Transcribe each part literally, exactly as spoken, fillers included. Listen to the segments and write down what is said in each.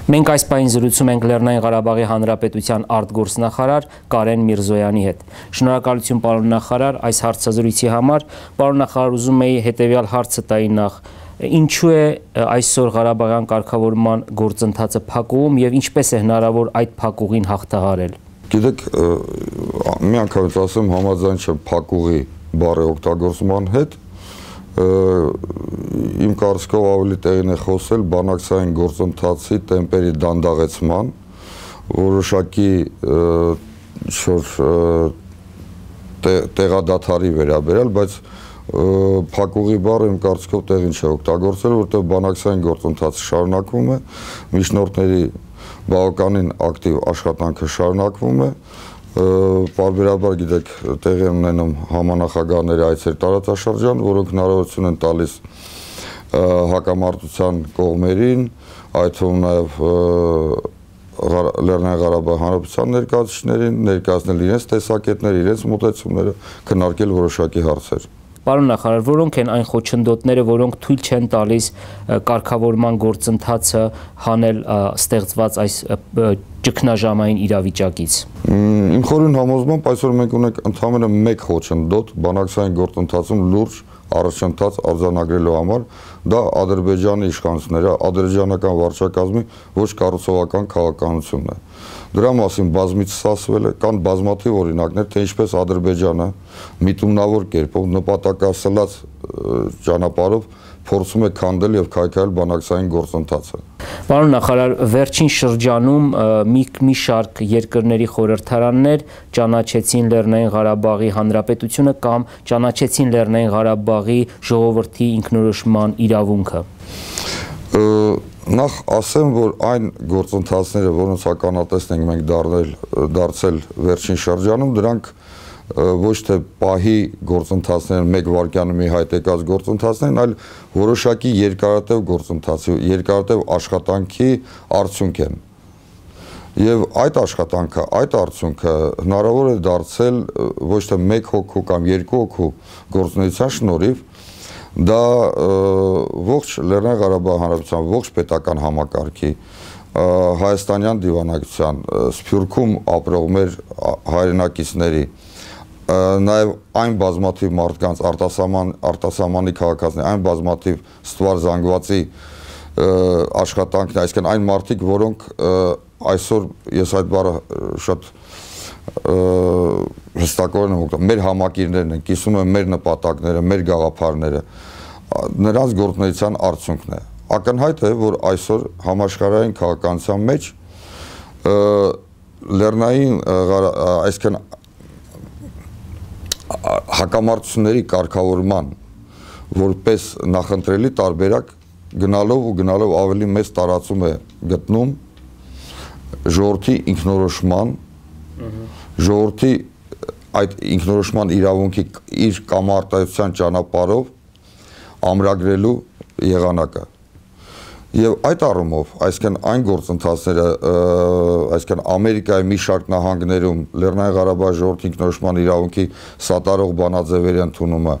Մենք այս պահին զրուցում ենք Լեռնային Ղարաբաղի Հանրապետության արտգործնախարար Կարեն Միրզոյանի հետ։ Շնորհակալություն պարոն նախարար այս հարցազրույցի համար։ Պարոն նախարար, ուզում էի հետևյալ հարցը տայի նախ. Ինչու է այսօր Ղարաբաղյան կարգավորման գործընթացը փակուղում եւ ինչպես է հնարավոր այդ փակուղին հաղթահարել։ Գիտեք, մի անգամից ասեմ, համաձայն չեմ փակուղի բառի օգտագործման հետ, իմ կարծիքով ավելի տեղին է խոսել բանակցային գործընթացի տեմպերի դանդաղեցման, որոշակի տեղադադարի վերաբերյալ, բայց փակուղի բառը իմ կարծիքով տեղին չէ օգտագործել, որտեղ բանակցային գործընթացը շարունակվում է, միջնորդների բավականին ակտիվ աշխատանքը շարունակվում է, պարբերաբար գիտեք տեղի են ունենում համանախագահների այցեր տարածաշրջան, որոնք հնարավորություն են տալիս հակամարտության կողմերին, այդ թվում նաև Լեռնային Ղարաբաղի Հանրապետության ներկայացուցիչներին, ներկայացնել իրենց տեսակետները, իրենց մոտեցումները, քննարկել որոշակի հարցեր։ Պարոն նախարար, որոնք են այն խոչընդոտները, որոնք թույլ չեն տալիս կարգավորման գործընթացը հանել ստեղծված այս ճգնաժամային իրավիճակից։ Իմ խորին համոզմամբ այսօր մենք ունենք ընդամենը մեկ խոչընդոտ բանակցային գործընթացում լուրջ առաջընթաց արձանագրելու համար, դա Ադրբեջանի իշխանությունները, ադրբեջանական վարչակազմի ոչ կառուցողական քաղաքականությունն է։ Դրա մասին բազմիցս ասվել է, կան բազմաթիվ օրինակներ, թե ինչպես Ադրբեջանը միտումնավոր կերպով նպատակասլաց ճանապարհով փորձում է քանդել եւ քայքայել բանակցային գործընթացը։ Պարոն նախարար, վերջին շրջանում մի մի շարք երկրների խորհրդարաններ ճանաչեցին Լեռնային Ղարաբաղի Հանրապետությունը կամ ճանաչեցին Լեռնային Ղարաբաղի ժողովրդի ինքնորոշման իրավունքը։ Նախ ասեմ, որ այն գործընթացները, որոնց ականատեսն ենք մենք դառնել դարձել վերջին շրջանում, դրանք ոչ թե պահի գործընթացներ, մեկ վայրկյանում մի հայտ եկած գործընթացներ, այլ որոշակի երկարատև գործընթացի, երկարատև աշխատանքի արդյունք են։ Եվ այդ աշխատանքը, այդ արդյունքը հնարավոր է դարձել ոչ թե մեկ հոգու կամ երկու հոգու գործունեության շնորհիվ, դա ողջ Լեռնային Ղարաբաղի Հանրապետության ողջ պետական համակարգի, հայաստանյան դիվանագիտության, Սփյուռքում ապրող մեր հայրենակիցների, նաև այն բազմաթիվ մարդկանց արտասահման արտասահմանի քաղաքացիների, այն բազմաթիվ ստվար զանգվածի աշխատանքն է, այսինքն այն մարդիկ, որոնք այսօր ես այդ բառը շատ հստակորեն եմ օգտագործում, մեր համակիրներն են, կիսում են մեր նպատակները, մեր գաղափարները, նրանց գործունեության արդյունքն է։ Ակնհայտ է, որ այսօր համաշխարհային քաղաքականության մեջ լեռնային, այսինքն հակամարտությունների կարգավորման որպես նախընտրելի տարբերակ գնալով ու գնալով ավելի մեծ տարածում է գտնում ժողովրդի ինքնորոշման, ժողովրդի այդ ինքնորոշման իրավունքի իր կամարտայնության ճանապարհով ամրագրելու եղանակը։ Եվ այդ առումով, այսինքն այն գործընթացները, այսինքն Ամերիկայի մի շարք նահանգներում Լեռնային Ղարաբաղի ժողովրդի ինքնորոշման իրավունքի սատարող բանաձևերի ընդունումը,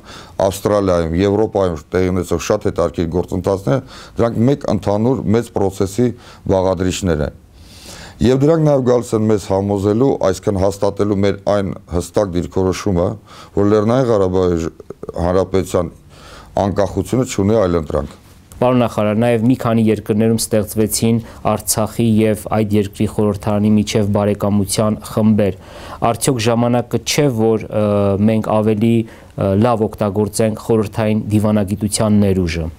Ավստրալիայում, Եվրոպայում տեղի ունեցող շատ հետաքրքիր գործընթացներ, դրանք մեկ ընդհանուր մեծ process-ի բաղադրիչներ են։ Եվ դրանք նաև գալիս են մեզ համոզելու, այսինքն հաստատելու մեր այն հստակ դիրքորոշումը, որ Լեռնային Ղարաբաղի Հանրապետության անկախությունը չունի այլընտրանք։ Պարոն նախարար, նաև մի քանի երկրներում ստեղծվեցին Արցախի եւ այդ երկրի խորհրդարանի միջև բարեկամության խմբեր։ Արդյոք ժամանակը չէ, որ մենք ավելի լավ օգտագործենք խորհրդային դիվանագիտության ներուժը։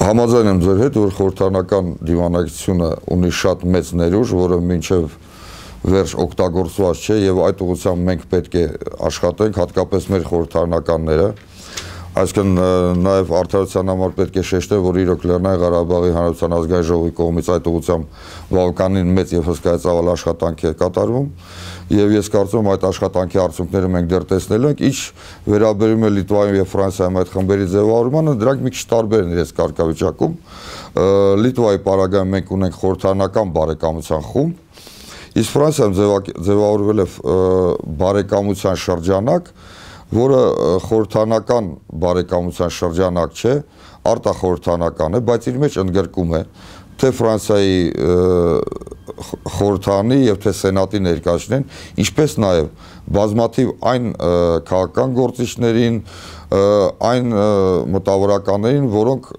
Համաձայն եմ ձեր հետ, որ խորհրդարանական դիվանագիտությունը ունի շատ մեծ ներուժ, որը մինչև վերջ օգտագործված չէ եւ այդ ուղղությամբ մենք պետք է աշխատենք, հատկապես մեր խորհրդարանականները։ Այսինքն նաև արդարության համար պետք է շեշտել, որ իրոք Լեռնային Ղարաբաղի Հանրապետության ազգային ժողովի կողմից այդ ուղղությամբ բավականին մեծ եւ հսկայածավալ աշխատանք է կատարվում, եւ ես կարծում եմ այդ աշխատանքի արդյունքները մենք դեռ տեսնելու ենք, ինչ վերաբերում է Լիտվայում եւ Ֆրանսիայում այդ խմբերի ձևավորմանը, դրանք մի քիչ տարբեր են իրենց կարգավիճակում։ Լիտվայի պարագայում մենք ունենք խորհրդարանական բարեկամության խումբ, իսկ Ֆրանսիայում ձևավորվել է բարեկամության շրջանակ, որը խորհրդարանական բարեկամության շրջանակ չէ, արտախորհրդարանական է, բայց իր մեջ ընդգրկում է թե Ֆրանսիայի խորհրդանի եւ թե սենատի ներկայացնեն, ինչպես նաեւ բազմաթիվ այն քաղաքական գործիչներին, այն մտավորականներին, որոնք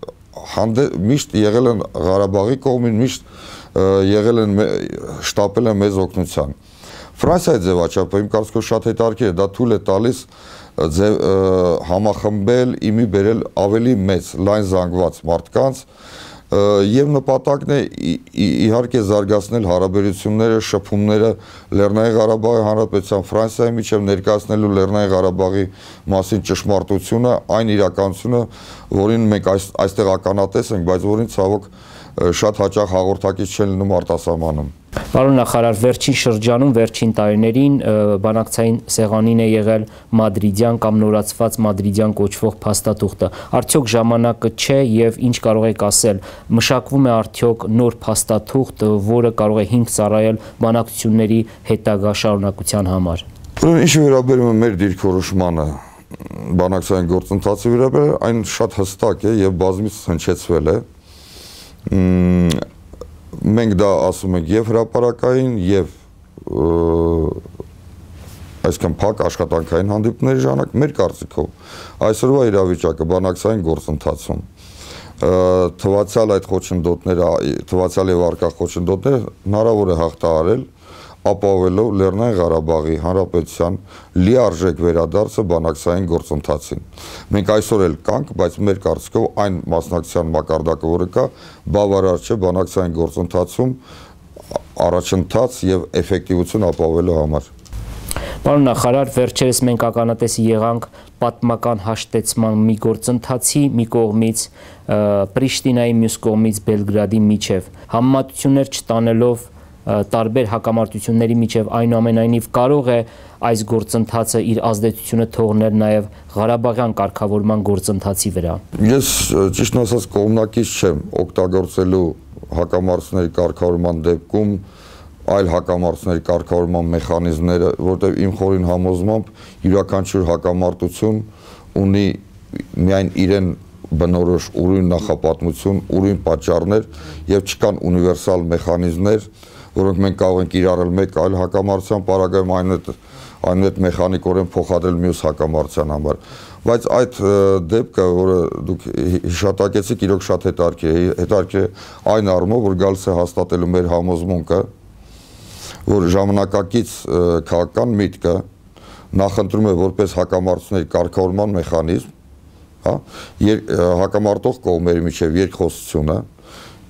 միշտ եղել են Ղարաբաղի կողմին, միշտ եղել են շտապել են մեզ օգնության։ Ֆրանսիայի ձևաչափը իմ կարծիքով շատ հետաքրքիր է, դա թույլ է տալիս համախմբել, իմի բերել ավելի մեծ, լայն զանգված մարդկանց եւ նպատակն է իհարկե զարգացնել հարաբերությունները, շփումները Լեռնային Ղարաբաղի Հանրապետության Ֆրանսիայի միջև, ներկայացնելու Լեռնային Ղարաբաղի մասին ճշմարտությունը, այն իրականությունը, որին մենք այստեղ ականատես ենք, բայց որին ցավոք շատ հաճախ հաղորդակից չեն լինում արտասահմանում։ Պարոն նախարար, վերջին շրջանում, վերջին տարիներին բանակցային սեղանին է եղել մադրիդյան կամ նորացված մադրիդյան կոչվող փաստաթուղթը։ Արդյոք ժամանակը չէ եւ ինչ կարող եք ասել, մշակվում է արդյոք նոր փաստաթուղթ, որը կարող է հիմք ծառայել բանակցությունների հետագա շարունակության համար։ Ինչ վերաբերում է մեր դիրքորոշմանը, բանակցային գործընթացի վերաբերյալ, այն շատ հստակ է եւ բազմից հնչեցվել է։ Մենք դա ասում ենք եւ հրապարակային եւ այսքան փակ աշխատանքային հանդիպումների ժամանակ, մեր կարծիքով այսօրվա իրավիճակը բանակցային գործընթացում թվացial այդ խոչընդոտները, թվացial եւ արկա խոչընդոտները հնարավոր է հաղթահարել, ապահովելով Լեռնային Ղարաբաղի Հանրապետության լիարժեք վերադարձը բանակցային գործընթացին։ Մենք այսօր էլ կանք, բայց մեր կարծիքով այն մասնակցության մակարդակը, որը կա, բավարար չէ բանակցային գործընթացում առաջընթաց եւ էֆեկտիվություն ապահովելու համար։ Պարոն նախարար, վերջերս մենք ականատես եղանք պատմական հաշտեցման մի գործընթացի, մի կողմից Պրիշտինայի, մյուս կողմից Բելգրադի միջև, համեմատություններ չտանելով տարբեր հակամարտությունների միջև, այնուամենայնիվ կարող է այս գործընթացը իր ազդեցությունը թողնել նաև Ղարաբաղյան կարգավորման գործընթացի վրա։ Ես ճիշտ ասած կողմնակից չեմ օգտագործելու հակամարտությունների կարգավորման դեպքում այլ հակամարտությունների կարգավորման մեխանիզմները, որտեղ իմ խորին համոզմամբ յուրաքանչյուր հակամարտություն ունի միայն իրեն բնորոշ ուրույն նախապատմություն, ուրույն պատճառներ եւ չկան ունիվերսալ մեխանիզմներ, որոնք մենք կարող ենք իրարել մեկ այլ հակամարտության պարագայում այնուհետ մեխանիկորեն փոխադրել մյուս հակամարտության համար։ Բայց այդ դեպքը, որը դուք հիշատակեցիք, իրոք շատ հետաքրքիր է, հետաքրքիր է այն առումով, որ գալիս է հաստատելու մեր համոզմունքը, որ ժամանակակից քաղաքական միտքը նախընտրում է որպես հակամարտությունների կարգավորման մեխանիզմ, հա, հակամարտող կողմերի միջև երկխոսությունը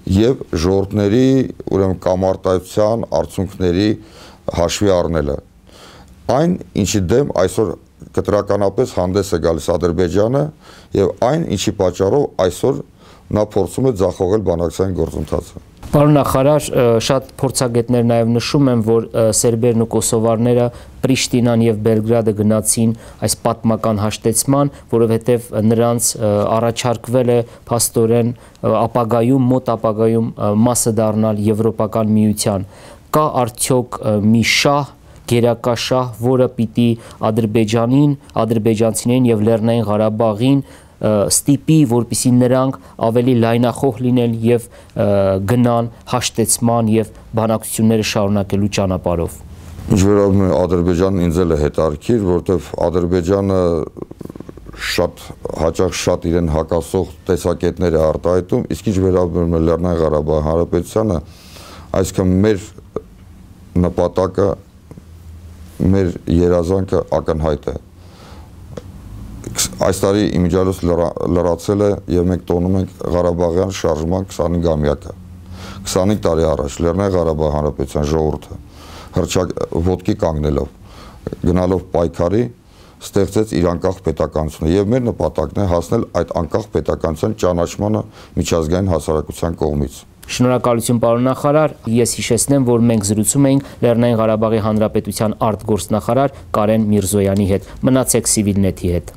եւ ժողովուրդների, ուրեմն կամարտայության արդյունքների հաշվի առնելը։ Այն, ինչի դեմ այսօր կտրականապես հանդես է գալիս Ադրբեջանը եւ այն, ինչի պատճառով այսօր նա փորձում է ձախողել բանակցային գործընթացը։ Պարոն նախարար, շատ փորձագետներ նաև նշում են, որ սերբերն ու կոսովարները Պրիշտինան եւ Բելգրադը գնացին այս պատմական հաշտեցման, որովհետեւ նրանց առաջարկվել է փաստորեն ապագայում, մոտ ապագայում մասը դառնալ Եվրոպական միության։ Կա արդյոք մի շահ, գերակա շահ, որը պիտի Ադրբեջանին, ադրբեջանցիներին եւ Լեռնային Ղարաբաղին ստիպի, որպեսզի նրանք ավելի լայնախոհ լինեն եւ գնան հաշտեցման եւ բանակցությունները շարունակելու ճանապարհով։ Ինչ վերաբերում է Ադրբեջանն, ինձ էլ է հետաքրքիր, որովհետեւ Ադրբեջանը շատ հաճախ շատ իրեն հակասող տեսակետներ է արտահայտում, իսկ ինչ վերաբերում է Լեռնային Ղարաբաղի Հանրապետությանը, այսինքն մեր նպատակը, մեր երազանքը ակնհայտ է։ Այս տարի իմիջիալոց լրացել է եւ մենք տոնում ենք Ղարաբաղյան շարժման քսանհինգամյակը։ քսանհինգ տարի առաջ Լեռնային Ղարաբաղի Հանրապետության ժողովուրդը հրճակ ոտքի կանգնելով, գնալով պայքարի, ստեղծեց իր անկախ պետականությունը եւ մեր նպատակն է հասնել այդ անկախ պետականության ճանաչմանը միջազգային հասարակության կողմից։ Շնորհակալություն պարոն նախարար, ես հիշեցնեմ, որ մենք զրուցում էինք Լեռնային Ղարաբաղի Հանրապետության արտգործնախարար Կարեն Միրզոյանի հետ։ Մնացեք Civilnet-ի հետ։